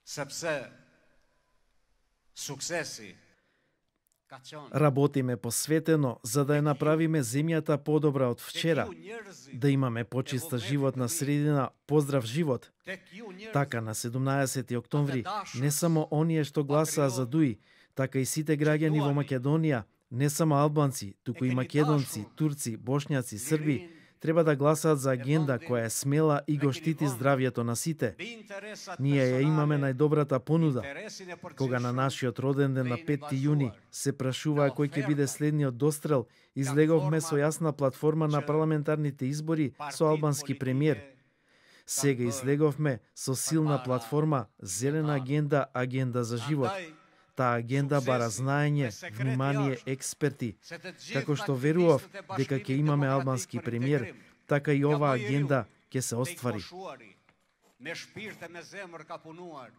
Sepse suksesi ka qenë Работиме посветено за да ја направиме земјата подобра од вчера, да имаме почиста животна средина, поздрав живот. tek ju njerëz Така на 17 октомври не само оние што гласаа за Дуи, така и сите граѓани во Македонија, не само албанци, туку и македонци, турци, бошњаци, срби, треба да гласаат за агенда која е смела и го штити здравјето на сите. Ние ја имаме најдобрата понуда. Кога на нашиот роден ден на 5 јуни се прашуваа кој ќе биде следниот дострел, излеговме со јасна платформа на парламентарните избори со албански премиер. Сега излеговме со силна платформа, зелена агенда, агенда за живот. Таа агенда бара знаење, внимание, експерти. Како што верував дека ќе имаме албански премиер, така и оваа агенда ќе се оствари. Me shpirt e me zemër ka punuar.